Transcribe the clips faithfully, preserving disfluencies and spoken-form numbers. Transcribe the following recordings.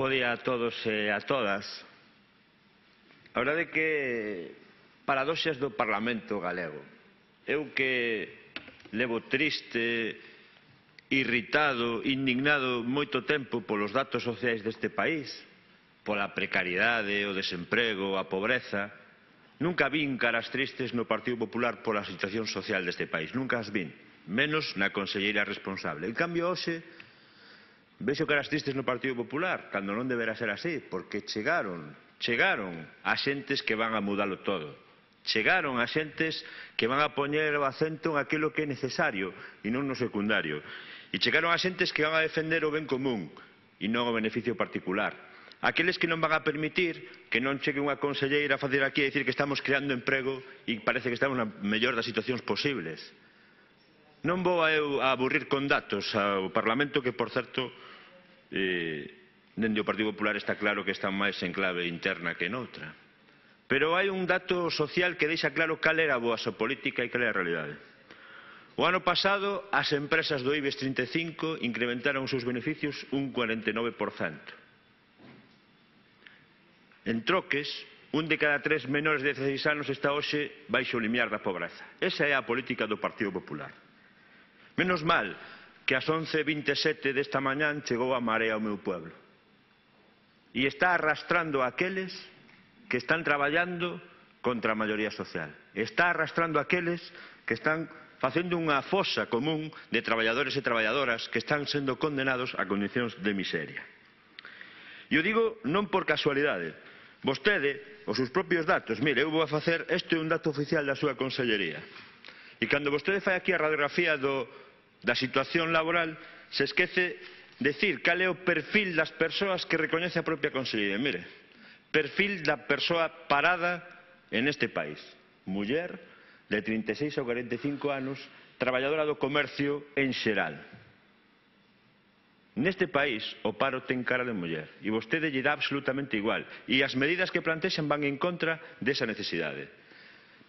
Bo día a todos e a todas. A verdade é que paradoxas do Parlamento galego. Eu que levo triste, irritado, indignado moito tempo polos datos sociais deste país, pola precariedade, o desemprego, a pobreza, nunca vin caras tristes no Partido Popular pola situación social deste país. Nunca as vin, menos na conselleira responsable. En cambio, hoxe, vexo caras tristes no Partido Popular, cando non deberá ser así, porque chegaron, chegaron a xentes que van a mudalo todo. Chegaron a xentes que van a poñer o acento en aquilo que é necesario e non no secundario. E chegaron a xentes que van a defender o ben común e non o beneficio particular. Aqueles que non van a permitir que non chegue unha conselleira a facer aquí a dicir que estamos creando emprego e parece que estamos na mellor das situacións posibles. Non vou a eu a aburrir con datos ao Parlamento que, por certo, eh, dende o Partido Popular está claro que están máis en clave interna que noutra. Pero hai un dato social que deixa claro cal era a boa política e cal era a realidade. O ano pasado, as empresas do IBEX trinta e cinco incrementaron os seus beneficios un cuarenta e nove por cento. En troques, un de cada tres menores de dezaseis anos está hoxe baixo o limiar da pobreza. Esa é a política do Partido Popular. Menos mal que ás once e vinte e sete desta mañán chegou a Marea ao meu pueblo. E está arrastrando a aqueles que están traballando contra a maioría social. Está arrastrando a aqueles que están facendo unha fosa común de traballadores e traballadoras que están sendo condenados a condicións de miseria. E o digo non por casualidade. Vostede, os seus propios datos, mire, eu vou a facer, este é un dato oficial da súa consellería. E cando vostede fai aquí a radiografía do, da situación laboral, se esquece decir cal é o perfil das persoas que recoñece a propia consellería. Mire, perfil da persoa parada en este país. Muller, de trinta e seis a cuarenta e cinco anos, traballadora do comercio en xeral. Neste país o paro ten cara de muller e vostede lle dá absolutamente igual e as medidas que plantexan van en contra desa necesidade.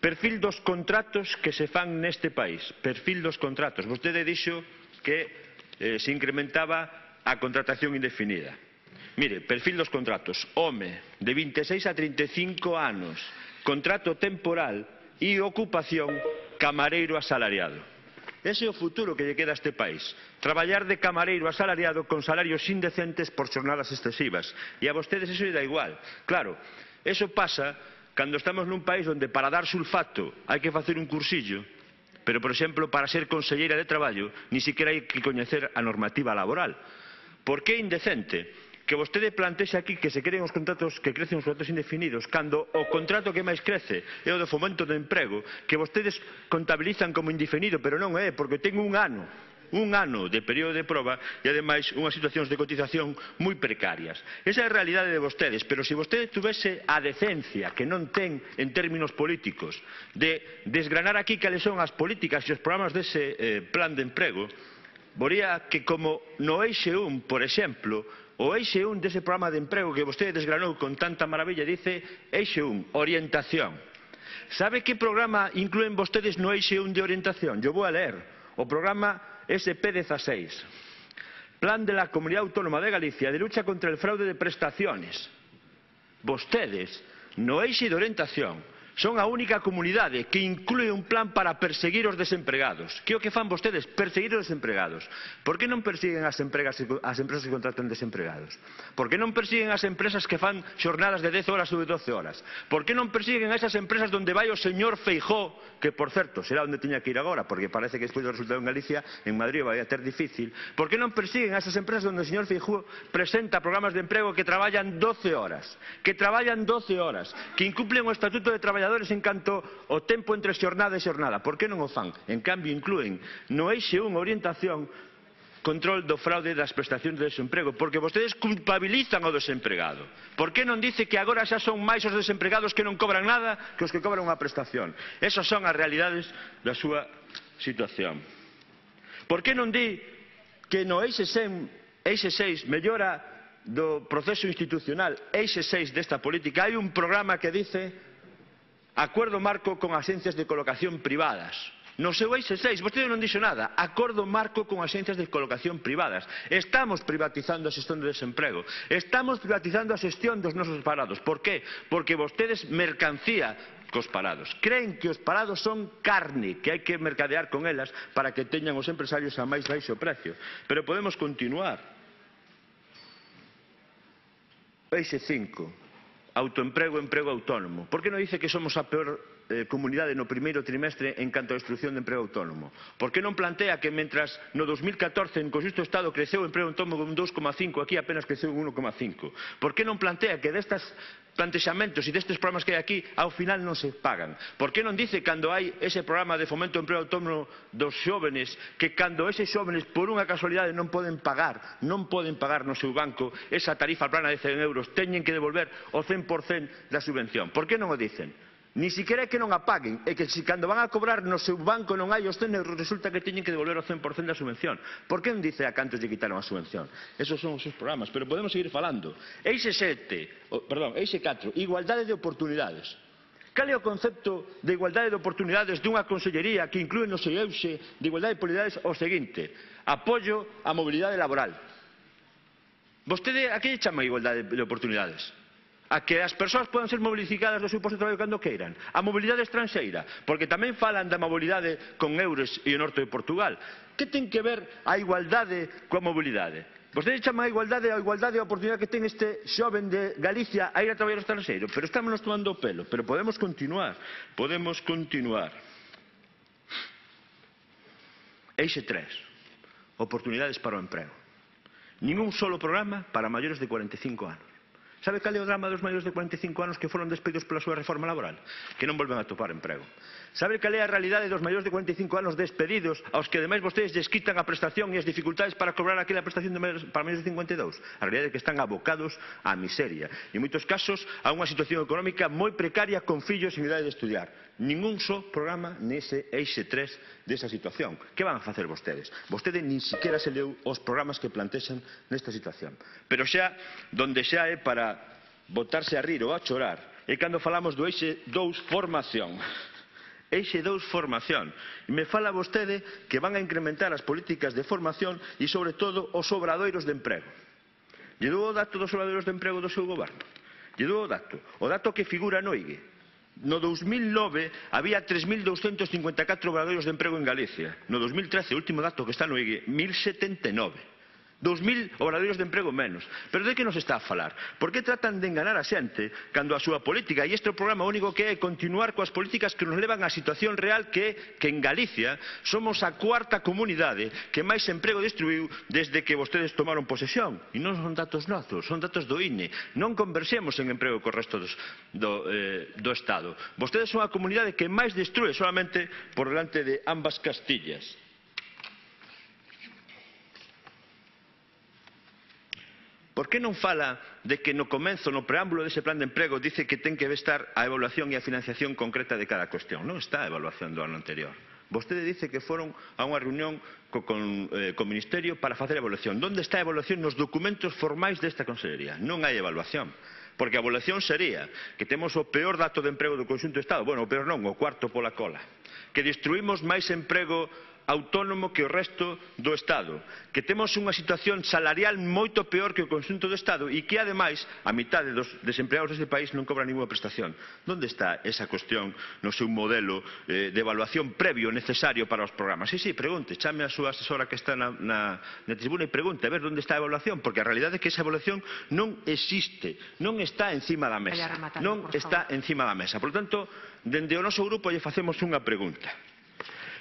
Perfil dos contratos que se fan neste país. Perfil dos contratos. Vostede dixo que eh, se incrementaba a contratación indefinida. Mire, perfil dos contratos. Home, de vinte e seis a trinta e cinco anos, contrato temporal e ocupación camareiro asalariado. Ese é o futuro que lle queda a este país. Traballar de camareiro asalariado con salarios indecentes por xornadas excesivas. E a vostedes eso lle dá igual. Claro, eso pasa cando estamos nun país onde para dar sulfato hai que facer un cursillo, pero, por exemplo, para ser conselleira de traballo, ni siquiera hai que coñecer a normativa laboral. Por que é indecente que vostede plantexe aquí que se creen os contratos, que crecen os contratos indefinidos, cando o contrato que máis crece é o do fomento do emprego, que vostedes contabilizan como indefinido, pero non é, porque ten un ano, un ano de período de proba e, ademais, unhas situacións de cotización moi precarias. Esa é a realidade de vostedes, pero se vostede tuvese a decencia, que non ten en términos políticos, de desgranar aquí cales son as políticas e os programas dese eh, plan de emprego, vería que como no eixe un, por exemplo, o eixe un dese programa de emprego que vostede desgranou con tanta maravilla dice eixe un, orientación. Sabe que programa incluen vostedes no eixe un de orientación? Yo vou a leer. O programa S P dieciséis. Plan de la Comunidad Autónoma de Galicia de lucha contra el fraude de prestaciones. Vostedes, no eixe de orientación, son a única comunidade que inclúe un plan para perseguir os desempregados. Que é o que fan vostedes? Perseguir os desempregados. Por que non persiguen as, empregas, as empresas que contratan desempregados? Por que non persiguen as empresas que fan xornadas de dez horas ou de doce horas? Por que non persiguen a esas empresas onde vai o señor Feijóo, que, por certo, será onde teña que ir agora, porque parece que despois do resultado en Galicia, en Madrid vai a ter difícil? Por que non persiguen a esas empresas onde o señor Feijóo presenta programas de emprego que traballan doce horas? Que traballan doce horas, que incumplen o Estatuto de Traballadores en canto o tempo entre xornada e xornada. Por que non o fan? En cambio, incluen no eixe un orientación control do fraude das prestacións de desemprego, porque vostedes culpabilizan ao desempregado. Por que non dice que agora xa son máis os desempregados que non cobran nada que os que cobran unha prestación? Esas son as realidades da súa situación. Por que non di que no eixe seis mellora do proceso institucional, eixe seis desta política, hai un programa que dice acuerdo marco con agencias de colocación privadas. No seu eixe seis, vostede non dixo nada. Acordo marco con axencias de colocación privadas. Estamos privatizando a xestión do desemprego. Estamos privatizando a xestión dos nosos parados. Por qué? Porque vostedes mercancía cos parados. Creen que os parados son carne, que hai que mercadear con elas para que teñan os empresarios a máis baixo precio. Pero podemos continuar. Eixe cinco. Autoemprego, emprego autónomo. Por que non dice que somos a peor eh, comunidade no primeiro trimestre en canto a destrucción de emprego autónomo? Por que non plantea que mentras no dos mil catorce en conxunto do Estado creceu o emprego autónomo un dous coma cinco, aquí apenas creceu un uno coma cinco? Por que non plantea que destas plantexamentos e destes programas que hai aquí ao final non se pagan? Por que non dice cando hai ese programa de fomento do emprego autónomo dos xóvenes que cando eses xóvenes por unha casualidade non poden pagar non poden pagar no seu banco esa tarifa plana de cen euros, teñen que devolver o cen por cento da subvención? Por que non o dicen? Ni siquiera é que non a paguen, é que se cando van a cobrar no seu banco non hai os cen euros, resulta que teñen que devolver o cen por cento da subvención. Por que non dice a cantos lle quitaron a subvención? Esos son os seus programas, pero podemos seguir falando. Eixe sete, oh, perdón, eixe catro, igualdade de oportunidades. Cal é o concepto de igualdade de oportunidades dunha consellería que inclúe no seu eixe de igualdade de oportunidades o seguinte: apoio á mobilidade laboral. Vostede a que lle chama igualdade de oportunidades? A que as persoas podan ser mobilizadas do seu posto de traballo cando queiran, a mobilidade estranxeira, porque tamén falan da mobilidade con Eures e o norte de Portugal. Que ten que ver a igualdade coa mobilidade? Vostede chama a igualdade a igualdade e a oportunidade que ten este xoven de Galicia a ir a traballar ao estranxeiro, pero estamos tomando o pelo, pero podemos continuar, podemos continuar. Eixe tres, oportunidades para o emprego. Ningún solo programa para maiores de cuarenta e cinco anos. Sabe cal é o drama dos maiores de cuarenta e cinco anos que foron despedidos pola súa reforma laboral? Que non volven a topar emprego. Sabe cal é a realidade dos maiores de cuarenta e cinco anos despedidos aos que ademais vostedes lles quitan a prestación e as dificultades para cobrar aquela prestación de maiores, para maiores de cincuenta e dous? A realidade é que están abocados á miseria. E en moitos casos a unha situación económica moi precaria con fillos en idade de estudiar. Ningún só programa nese eixe tres desa situación. Que van a facer vostedes? Vostede nin siquiera se leu os programas que plantexan nesta situación. Pero xa, donde xa é para botarse a rir ou a chorar, é cando falamos do eixe dous formación. Eixe dous formación. E me fala vostede que van a incrementar as políticas de formación e, sobre todo, os obradoiros de emprego. Lle dou o dato dos obradoiros de emprego do seu goberno. Lle dou o dato. O dato que figura no I G E. No dos mil nove había tres mil douscentos cincuenta e catro obradoiros de emprego en Galicia. No dos mil trece, o último dato que está no I G E, mil setenta e nove. Dos mil obradoiros de emprego menos. Pero de que nos está a falar? Por que tratan de enganar a xente cando a súa política, e este o programa único que é continuar coas políticas que nos levan á situación real que é que en Galicia somos a cuarta comunidade que máis emprego destruiu desde que vostedes tomaron posesión? E non son datos nosos, son datos do I N E. Non conversemos en emprego co resto dos, do, eh, do Estado. Vostedes son a comunidade que máis destrue solamente por delante de ambas Castillas. Por que non fala de que no comenzo, no preámbulo dese plan de emprego, dice que ten que estar a evaluación e a financiación concreta de cada cuestión? Non está a evaluación do ano anterior. Vostede dice que foron a unha reunión co, con, eh, co Ministerio para facer a evaluación. Onde está a evaluación nos documentos formais desta Consellería? Non hai evaluación. Porque a evaluación sería que temos o peor dato de emprego do conxunto do Estado, bueno, o peor non, o cuarto pola cola, que destruímos máis emprego autónomo que o resto do Estado, que temos unha situación salarial moito peor que o conxunto do Estado e que, ademais, a mitad dos desempleados deste país non cobran ninguna prestación. Onde está esa cuestión no seu modelo eh, de evaluación previo necesario para os programas? Sí, sí, pregunte, chame a súa asesora que está na, na, na tribuna e pregunte a ver onde está a evaluación, porque a realidade é que esa evaluación non existe, non está encima da mesa, non está encima da mesa. Por lo tanto, dende o noso grupo lle facemos unha pregunta.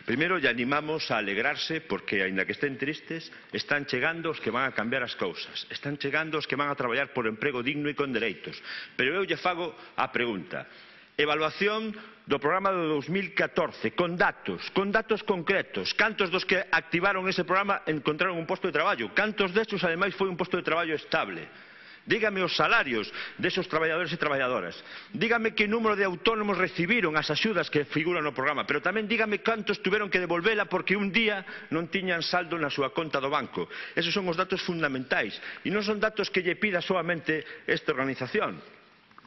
Primeiro, lle animamos a alegrarse porque, aínda que estén tristes, están chegando os que van a cambiar as cousas. Están chegando os que van a traballar por emprego digno e con dereitos. Pero eu lle fago a pregunta. Evaluación do programa do dos mil catorce, con datos, con datos concretos. Cantos dos que activaron ese programa encontraron un posto de traballo? Cantos destes, ademais, foi un posto de traballo estable? Dígame os salarios desos traballadores e traballadoras. Dígame que número de autónomos recibiron as axudas que figuran no programa. Pero tamén dígame cantos tuveron que devolvela porque un día non tiñan saldo na súa conta do banco. Esos son os datos fundamentais. E non son datos que lle pida solamente esta organización.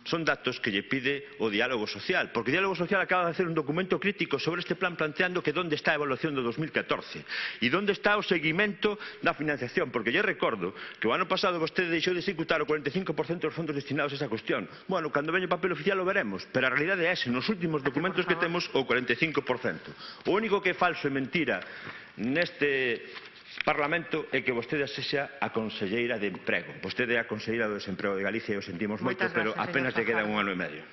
son datos que lle pide o diálogo social, porque o diálogo social acaba de hacer un documento crítico sobre este plan planteando que onde está a evaluación do dos mil catorce e onde está o seguimento da financiación, porque lle recordo que o ano pasado vostede deixou de executar o cuarenta e cinco por cento dos fondos destinados a esa cuestión. Bueno, cando veña o papel oficial o veremos, pero a realidade é ese, nos últimos documentos que temos o cuarenta e cinco por cento. O único que é falso e mentira neste Parlamento é que vostede sexa a conselleira de emprego. Vostede é a conselleira do desemprego de Galicia e o sentimos moito, pero apenas lle quedan un ano e medio.